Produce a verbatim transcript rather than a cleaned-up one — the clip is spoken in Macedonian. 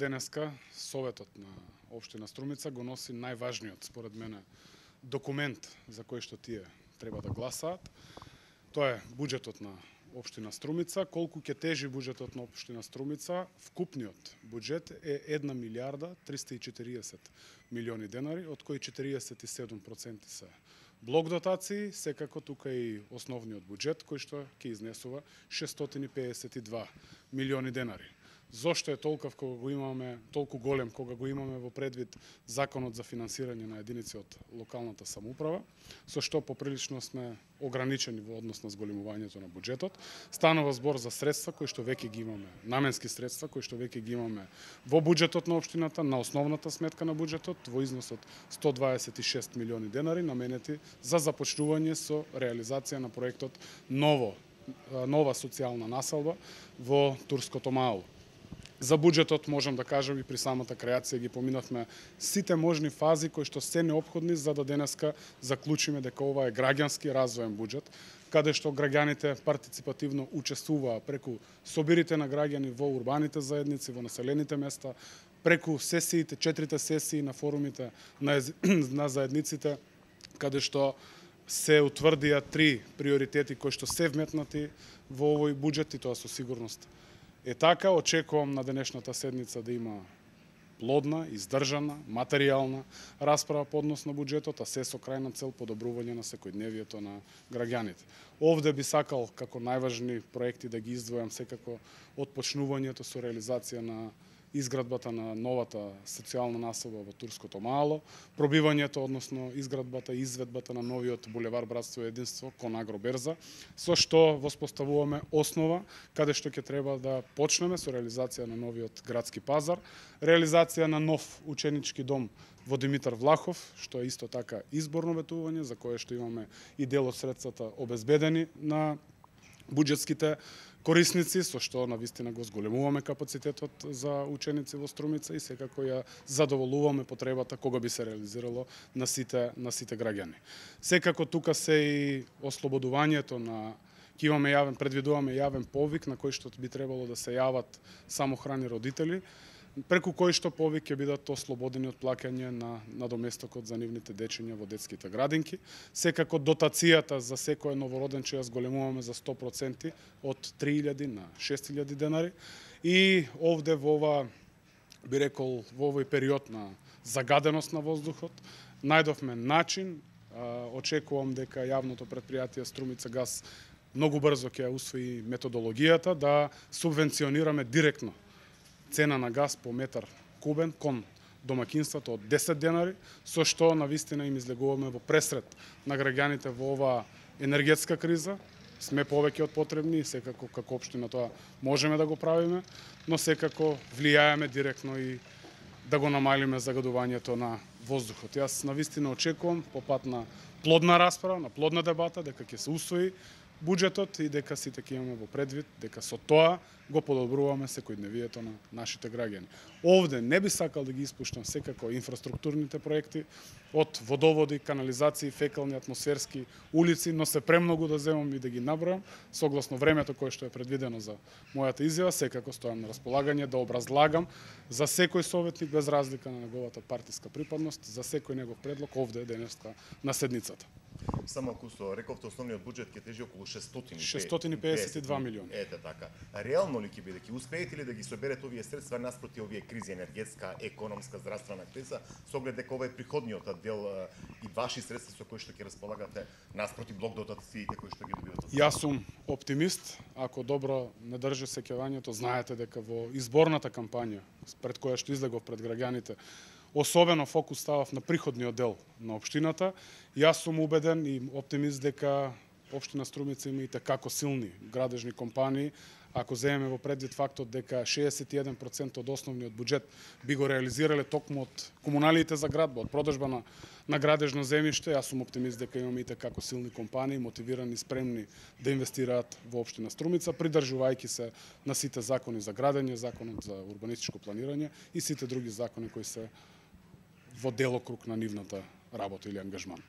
денеска Советот на општина Струмица го носи најважниот, според мене, документ за кој што тие треба да гласаат. Тоа е буџетот на општина Струмица. Колку ќе тежи буџетот на општина Струмица? Вкупниот буџет е една милијарда триста и четириесет милиони денари, од кои четириесет и седум проценти се блок дотации, секако тука и основниот буџет кој што ќе изнесува шестстотини и педесет и два милиони денари. Зошто е толков кога го имаме, толку голем кога го имаме во предвид законот за финансирање на единици од локалната самоуправа, со што поприлично сме ограничени во однос на зголемувањето на буџетот. Станува збор за средства кои што веќе ги имаме, наменски средства кои што веќе ги имаме во буџетот на општината, на основната сметка на буџетот во износ од сто дваесет и шест милиони денари наменети за започнување со реализација на проектот ново нова социјална населба во Турското мало. За буџетот можам да кажам и при самата креација ги поминавме сите можни фази кои што се неопходни за да денеска заклучиме дека ова е граѓански развоен буџет, каде што граѓаните партиципативно учествуваа преку собирите на граѓани во урбаните заедници, во населените места, преку сесиите, четирите сесии на форумите на, на заедниците, каде што се утврдија три приоритети кои што се вметнати во овој буџет и тоа со сигурност е така. Очекувам на денешната седница да има плодна, издржана, материјална расправа по однос на буџетот, а се со крајна цел подобрување на секојдневието на граѓаните. Овде би сакал како најважни проекти да ги издвојам секако отпочнувањето со реализација на изградбата на новата социјална населба во Турското мало, пробивањето, односно изградбата и изведбата на новиот булевар Братство и единство кон Агроберза, со што воспоставуваме основа каде што ќе треба да почнеме со реализација на новиот градски пазар, реализација на нов ученички дом во Димитар Влахов, што е исто така изборно ветување, за кое што имаме и дел од средствата обезбедени на буџетските корисници, со што навистина го зголемуваме капацитетот за ученици во Струмица и секако ја задоволуваме потребата кога би се реализирало на сите на сите граѓани. Секако тука се и ослободувањето на ќе имаме јавен предвидуваме јавен повик на кој што би требало да се јават самохрани родители, преку кој што повик ќе бидат ослободени од плаќање на надоместокот за нивните дечиња во детските градинки. Секако дотацијата за секој новороденче ја зголемуваме за сто проценти од три илјади на шест илјади денари. И овде во ова, би рекол, во овој период на загаденост на воздухот, најдовме начин, очекувам дека јавното претпријатие Струмица газ многу брзо ќе усвои методологијата да субвенционираме директно цена на газ по метар кубен кон домакинството од десет денари, со што навистина им излегуваме во пресред на граѓаните во оваа енергетска криза. Сме повеќе од потребни и секако како општина тоа можеме да го правиме, но секако влијаеме директно и да го намалиме загадувањето на воздухот. Јас навистина очекувам по пат на плодна расправа, на плодна дебата, дека ќе се усвои буџетот и дека сите ќе имаме во предвид дека со тоа го подобруваме секојдневието на нашите граѓани. Овде не би сакал да ги испуштам секако инфраструктурните проекти од водоводи, канализации, фекални, атмосферски улици, но се премногу да земам и да ги набројам согласно времето кое што е предвидено за мојата изјава. Секако стојам на располагање да образлагам за секој советник без разлика на неговата партиска припадност, за секој негов предлог овде денеска на седницата. Само ако со рековте основниот буџет ќе тежи околу шестстотини и педесет и два милиони. Ете така. Реално ли ќе биде, ќе успеете ли да ги соберете овие средства наспроти овие кризи, енергетска, економска, здравствена криза, со оглед дека ова е приходниот дел и ваши средства со кои што ќе располагате наспроти блок дотациите кои што ги добивате? Јас сум оптимист. Ако добро не држи сеќавањето, знаете дека во изборната кампања пред која што излегов пред граѓаните, особено фокус ставав на приходниот дел на општината. Јас сум убеден и оптимист дека општина Струмица има и како силни градежни компании. Ако земеме во предвид фактот дека шеесет и еден проценти од основниот буџет би го реализирале токму од комуналиите за градба, од продажба на, на градежно земјиште, јас сум оптимист дека имаме и како силни компании, мотивирани, спремни да инвестираат во општина Струмица, придржувајќи се на сите закони за градење, законот за урбанистичко планирање и сите други закони кои се во делокруг на нивната работа или ангажман.